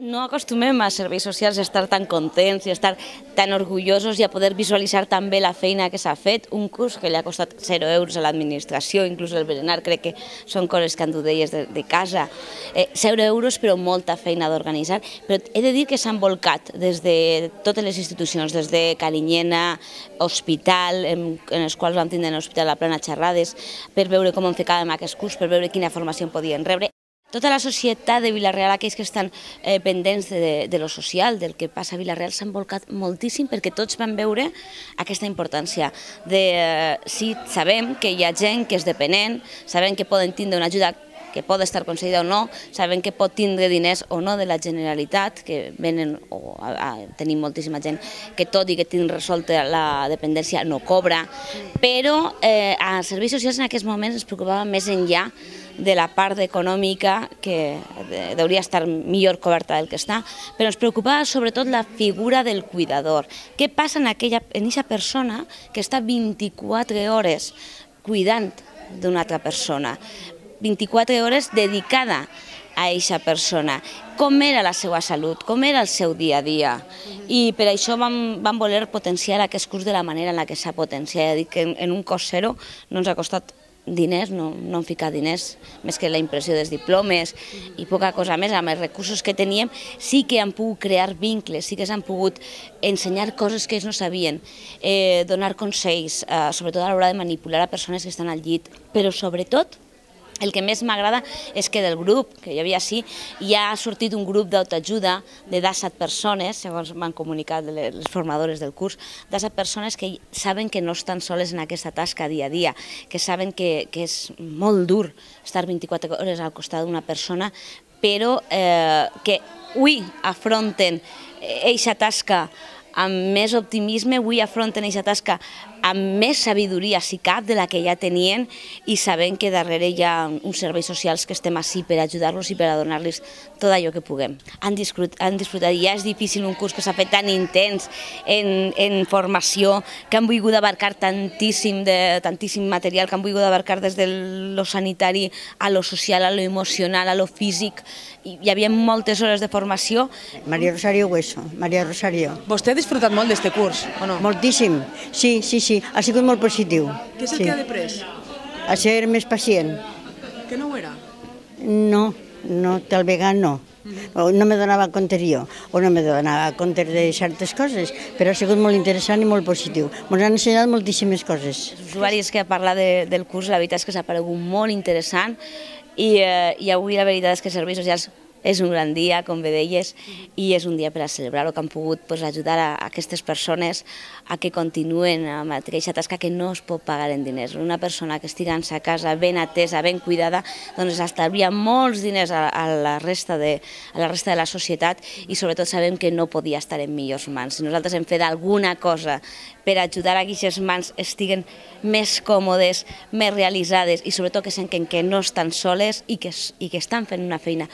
No acostumem a serveis socials a estar tan contents i a estar tan orgullosos i a poder visualitzar tan bé la feina que s'ha fet. Un curs que li ha costat 0 euros a l'administració, inclús el berenar, crec que són coses que han dut d'elles de casa. 0 euros, però molta feina d'organitzar. Però he de dir que s'han volcat des de totes les institucions, des de Carinyena, hospital, en els quals vam tindre en l'Hospital La Plana xerrades, per veure com ficàvem aquest curs, per veure quina formació podien rebre. Tota la societat de Vila-real, aquells que estan pendents de lo social, del que passa a Vila-real, s'han volcat moltíssim perquè tots van veure aquesta importància. Sí, sabem que hi ha gent que és dependent, sabem que poden tindre una ajuda que pot estar concedida o no, sabem que pot tindre diners o no de la Generalitat, que venen, o tenim moltíssima gent que tot i que tingui resolta la dependència no cobra, però als serveis socials en aquests moments ens preocupava més enllà de la part econòmica, que hauria d'estar millor coberta del que està, però ens preocupava sobretot la figura del cuidador. Què passa en aquesta persona que està 24 hores cuidant d'una altra persona, 24 hores dedicada a aquesta persona? Com era la seva salut, com era el seu dia a dia. I per això vam voler potenciar aquest curs de la manera en què s'ha potenciat. Dic que en un cost zero no ens ha costat diners, no hem ficat diners, més que la impressió dels diplomes i poca cosa més. Amb els recursos que teníem sí que han pogut crear vincles, sí que s'han pogut ensenyar coses que ells no sabien, donar consells, sobretot a l'hora de manipular a persones que estan al llit, però sobretot el que més m'agrada és que del grup, que hi havia així, ja ha sortit un grup d'autoajuda de 17 persones, segons m'han comunicat les formadores del curs, 17 persones que saben que no estan soles en aquesta tasca dia a dia, que saben que és molt dur estar 24 hores al costat d'una persona, però que avui afronten aquesta tasca amb més optimisme, avui afronten aquesta tasca amb més sabidoria, si cap, de la que ja tenien, i sabent que darrere hi ha uns serveis socials que estem així per ajudar-los i per a donar-los tot allò que puguem. Han disfrutat, i ja és difícil un curs que s'ha fet tan intens en formació, que han volgut abarcar tantíssim material, que han volgut abarcar des de lo sanitari a lo social, a lo emocional, a lo físic. Hi havia moltes hores de formació. María Rosario Hueso, María Rosario. Vostè ha disfrutat molt d'aquest curs, o no? Moltíssim, sí, ha sigut molt positiu. Què és el que ha après? A ser més pacient. Que no ho era? No, tal vegada no. No me donava compte jo, o no me donava compte de certes coses, però ha sigut molt interessant i molt positiu. Ens han ensenyat moltíssimes coses. Els usuaris que han parlat del curs, la veritat és que s'ha paregut molt interessant, i avui la veritat és que serveis socials és un gran dia, com bé deies, i és un dia per a celebrar-ho, que han pogut ajudar a aquestes persones a que continuen amb aquesta tasca que no es pot pagar en diners. Una persona que estigui a sa casa ben atesa, ben cuidada, doncs estalvia molts diners a la resta de la societat, i sobretot sabem que no podia estar en millors mans. Si nosaltres hem fet alguna cosa per ajudar a que aquestes mans estiguen més còmodes, més realitzades, i sobretot que senten que no estan soles i que estan fent una feina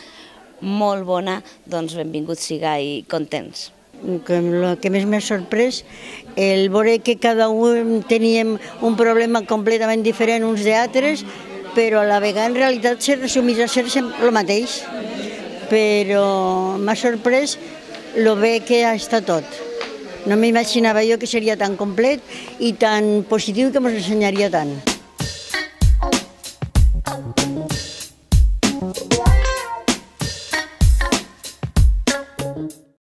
molt bona, doncs benvinguts siga i contents. El que més m'ha sorprès, el veure que cada un teníem un problema completament diferent uns d'altres, però a la vegada en realitat se resumís a ser el mateix. Però m'ha sorprès el bé que està tot. No m'imaginava jo que seria tan complet i tan positiu, que ens ensenyaria tant.